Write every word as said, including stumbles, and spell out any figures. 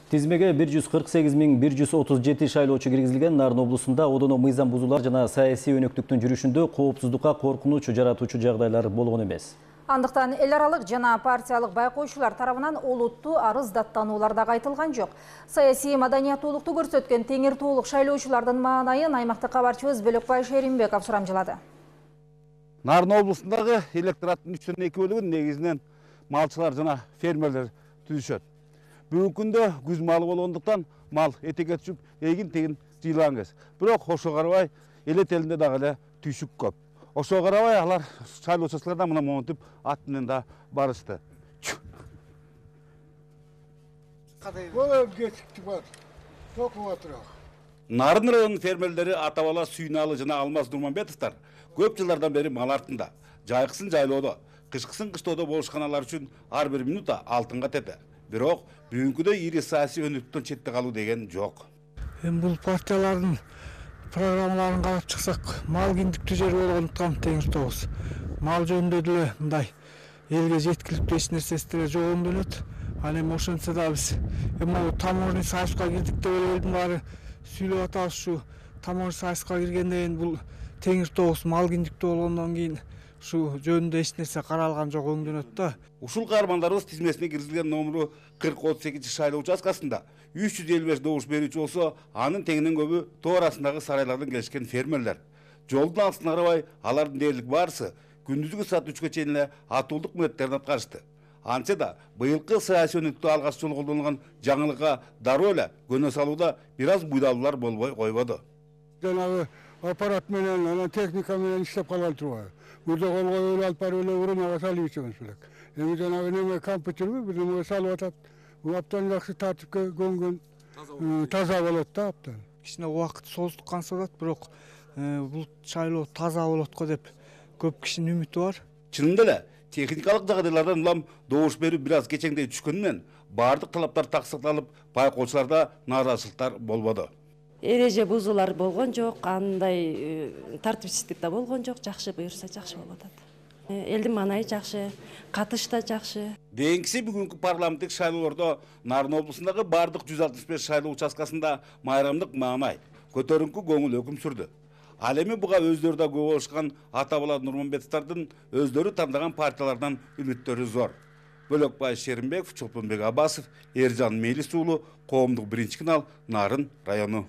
Тизмеге бир жүз кырк сегиз миң бир жүз отуз жети шайлоочу киргизилген. Нарын облусунда одоно мыйзам бузуулар жана саясий өнөктүктүн жүрүшүндө коопсуздукка коркунуч жаратуучу жагдайлар болгон эмес. Андыктан эл аралык жана партиялык байкоочулар тарабынан олуттуу арыз даттануулар да айтылган жок. Саясий маданияттуулукту көрсөткөн теңир тоолук шайлоочулардын маанайын аймактык кабарчыбыз Бөлөкбай Шеримбеков сурамжылады. Нарын облусундагы электораттын үчтөн эки бөлүгүн негизинен малчылар жана фермерлер түзүшөт. Бүгүнкү күндө күз малы болгондуктан мал этекке түшүп, эгин тегин жыйылган кез. Бирок ошого карабай элет элинде дагы эле түйшүк көп. Ошого карабай алар шайлоо участкаларда мына монтип ат менен да барышты. Нарын районунун фермерлери Атабала Сүйналы жана Алмаз Нурманбетовдор көп жылдардан бери мал артында. Жайкысын жайлоодо, кышкысын кыштоодо болушкан алар үчүн ар бир минута алтынга тете. Бирок бүгүнкүдөй ири саясий өнөктүктөн четте калуу деген жок. Эми бул партиялардын программаларын карап чыксак, мал киндиктүү жер болгондуктан теңир тообуз. Мал жөнүндө деле мындай элге жеткиликтүү эч нерсеси деле жок өңдөнөт. Ал эми ошентсе да биз эми таможный союзга кирдик деп элдин баары сүйлөп атабыз. Ушу таможный союзга киргенден кийин бул теңир тообуз мал киндиктүү болгондон кийин ушу жөнүндө эч нерсе каралган жок, өңдөнөт да. Ушул каармандарыбыз тизмесине киргизилген номеру кырк отуз экинчи шайлоо участкасында үч жүз элүү беш добуш берүүчү болсо, анын теңинен көбү тоо арасындагы сарайлардан келишкен фермерлер. Жолдун алысына карабай алардын дээрлик баарысы күндүзгү саат үчкө чейин эле атуулдук милдеттерин аткарышты. Антсе да быйылкы саясий өнөктүктө алгач жолу колдонулган жаңылыкка дароо эле көнө салууда бир аз буйдалуулар болбой койбоду. Жанагы аппарат менен, анан техника менен иштеп калган турбайбы? Бирде колго эле алып барып эле уруняга салып ичебиз белек. Эми жанагы неме компьютерби бир неме салып атат. Аптан жакшы тартипке көнгөн, таза болот да аптан. Кичине убакыт созулткан болот, бирок бул шайлоо таза болот го деп көп кишинин үмүтү бар. Чынында эле техникалык жагдайлардан улам добуш берүү бир аз кечеңдей түшкөнүнөн баардык талаптар таксыкталып, байкоочуларда нааразычылыктар болбоду. Эреже бузуулар болгон жок, андай тартипсиздик да болгон жок, жакшы буюрса жакшы болуп атат. Элдин маанайы жакшы, катыш да жакшы. Дейинкиси бүгүнкү парламенттик шайлоолордо Нарын облусундагы бардык жүз алтымыш беш шайлоо участкасында майрамдык маанай, көтөрүнкү көңүл өкүм сүрдү. Ал эми буга өздөрү да күбө болушкан Атабала Нурманбетовдордун өздөрү тандаган партиялардан үмүттөрү зор. Бөлөкбай Шеримбеков, Чолпонбек Абасов, Эржан Мелис уулу, Коомдук биринчи канал, Нарын району.